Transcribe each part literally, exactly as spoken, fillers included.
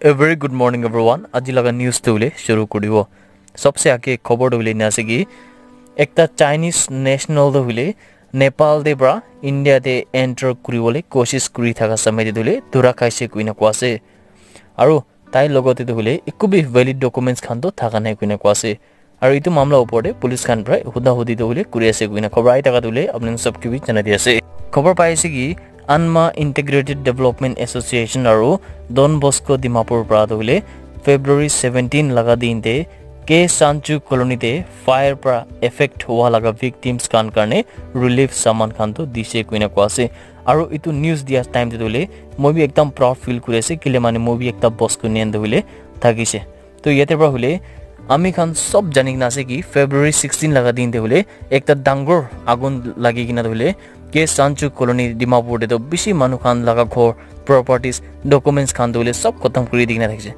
A very good morning everyone. Aji laga news tu hule shuru kuribo. Sabse age khobor tu hule na ase ki ekta Chinese national tu hule Nepal de pra India de enter kuribole koshish kuri thaka samay de hule dura khaise kuina kwa ase. Aru tai logote tu hule ekku bi valid documents khan tu thaka nai kuina kwa ase. Aru itu mamla upor te police khan pra huda hudi tu hule kuri ase kuina khobor ai thaka tu hule apni sab ke bi janai di ase. Khobor pai ase ki Anma Integrated Development Association aru Don Bosco Dimapur pra tu hule February seventeen laga din te K Sanchu Colony te fire pra affect hua laga victims khan karne relief saman khan tu dise kuina kwa ase. Aru itu news dia time te tu hule moi bi ekdam proud feel kuri ase kile mane moi bi ekta Bosco nian tu hule thakise. To yate pra hule ami khan sob jani kena ase ki February sixteen laga din te hule ekta dangor agun lagi kena hule K Sanchu Colony Dimapur te to bishi manu khan laga ghor, properties, documents khan to hule sob khotom kuri di kena thakise.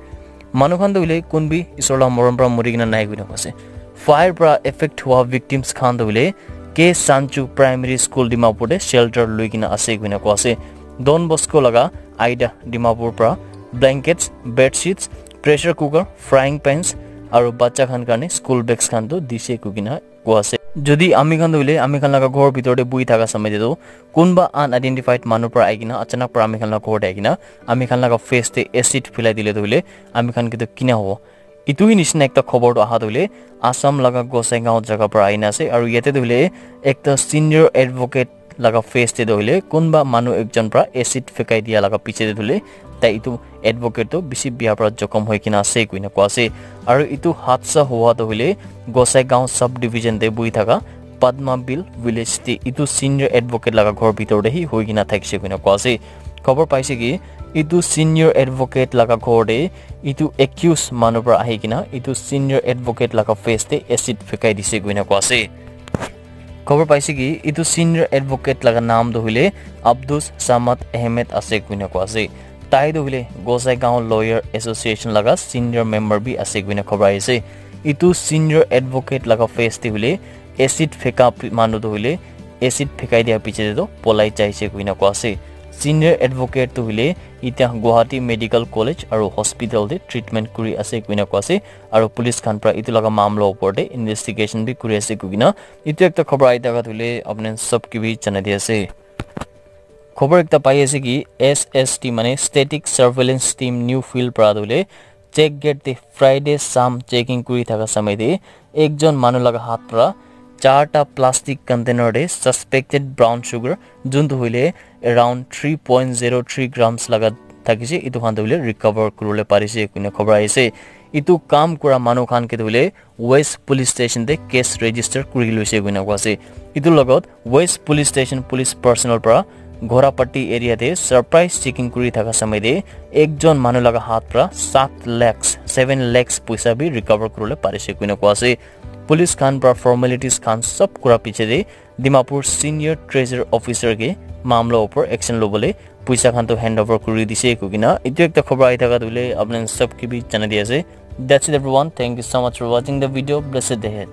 Manu khan to hule kun bi isor la morom pra muri kena nai kuina ase. Fire pra affect hua victims khan to hule K Sanchu Primary School Dimapur te shelter lui kena ase kuina kwa ase. Don Bosco laga Aida Dimapur pra blankets, bed sheets, pressure cooker, frying pans aru bacha khan karne school bags khan tu dise kuina kwa ase. Jodi ami khan tu hule ami khan laga ghor bitor te bui thaka samay te tu kunba unidentified manu pra ai kena achanak pra ami khan laga ghor te ai kena ami khan laga face te acid philai dile tu hule ami khan ke tu kina hobo. Itu hi nishina ekta khobor tu aha tu hule Assam laga Gosaingaon jaga pra aina ase aru yate tu hule ekta senior advocate laga face te tu hule kunba manu ekjon pra acid fekai dia laga piche te tu hule tai itu advocate tu bishi bia pra jokhom hoi kena ase kuina kwa ase. Aru itu hadsa hua tu hule Gosaingaon sub division te bui thaka Padma Bill village te itu senior advocate laga ghor bitor te hi hoi kena thakise kuina kwa ase. Khobor paise ki itu senior advocate laga ghor te itu accused manu pra ahi kena itu senior advocate laga face te acid fekai dise kuina kwa ase. Khobor paise ki itu senior advocate laga naam tu hule Abdus Samad Ahmed ase kuina kwa ase. Tai tu hule Gosaingaon Lawyer Association laga senior member bi ase kuina khobor aise. Itu senior advocate laga face te hule acid feka pi- manu tu hule acid fekai dia piche te tu polai jaise kuina kwa ase. Senior advocate tu hule itya Guwahati Medical College aru hospital te treatment kuri ase kuina kwa ase. Aru police khan pra itu laga mamla upor te investigation bi kuri ase kuina itu ekta khobor ai thaka tu hule apni sab ke bi janai di ase. Khobor ekta pai ase ki S S T mane Static Surveillance Team New Field pra tu hule check gate te Friday sam checking kuri thaka samay te ekjon manu laga hat pra charta plastic container te suspected brown sugar juntu hule around three point zero three grams laga thakise itu khan tu hule recover kuribole parise kuina khobor aise. Itu kam kura manu khan ke tu hule West Police Station te case register kuri loise kuina kwa ase. Itu logot West Police Station police personnel pra Ghorapatti area te surprise checking kuri thaka samay te ekjon manu laga hat pra sat lakhs, seven lakhs poisa bi recover kuribole parise kuina kwa ase. Police khan pra formalities khan sob kura piche te Dimapur senior treasurer officer ke mamla upor action lobole poisa khan to hand over kuri dise kuina itu ekta khobor ai thaka tu hule apni sab ke bi janai di ase. That's it everyone. Thank you so much for watching the video. Blessed day ahead.